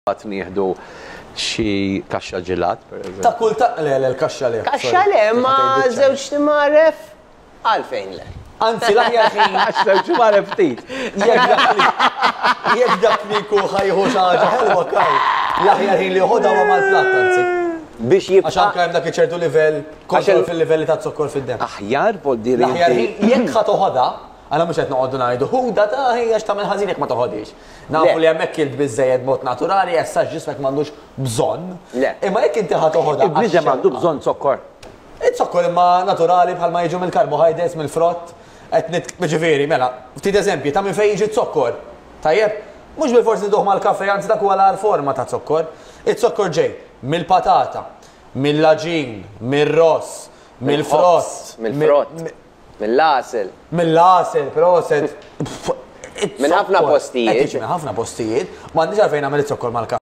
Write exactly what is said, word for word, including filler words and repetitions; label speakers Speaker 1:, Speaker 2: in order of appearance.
Speaker 1: Mbagħad nieħdu xi kaxxa ġelat, per eżempju.
Speaker 2: Ta' kull ta' le, le, l-kaxxa le.
Speaker 3: Kaxxa le, ma żewġ timgħaref, għalfejn le?
Speaker 2: Anzi, l-aħjar ħin.
Speaker 1: Għax żewġ timgħaref ftit.
Speaker 2: Jekk dak li jekk dak li jkun ħa jieħu xi ħaġa ħelwa kaj, l-aħjar ħin li joħodha huwa mal-platt anzi.
Speaker 3: Biex
Speaker 2: Għax
Speaker 3: jibqa'
Speaker 2: anke hemm dak ċertu livell kontroll fil-livelli ta' zokkor fid-demm.
Speaker 1: Aħjar vol diri.
Speaker 2: L-aħjar ħin jekk ħa toħodha, għala mhux qed noqogħdu ngħidu ħuda ta' ħija x'tagħmel ħażin jekk ma toħodix. Nafu
Speaker 3: Le.
Speaker 2: li hemmhekk kilt biżejjed mod naturali, issa ġismek m'għandux bżonn.
Speaker 3: Le.
Speaker 2: Imma jekk inti ħa toħodha.
Speaker 1: Il-bniedem għandu bżonn zokkor.
Speaker 2: Iz-zokkor imma naturali bħalma jiġu mill-carbohydrates, mill-frott, qed nit ġifieri, mela, ftit eżempji ta' minn fejn jiġi zokkor. Tajjeb, mhux bil-forsi nieħduh mal-kafe, anzi dak huwa l forma ta' zokkor. Iz-zokkor ġej mill-patata, mill-għaġin, mir-ross, mill-frott,
Speaker 3: mill-frott, mill-għasel.
Speaker 2: Mill-għasel, proset.
Speaker 3: Minn ħafna postijiet.
Speaker 2: Minn ħafna postijiet. M'għandix għalfejn nagħmel iz-zokkor mal-kafe.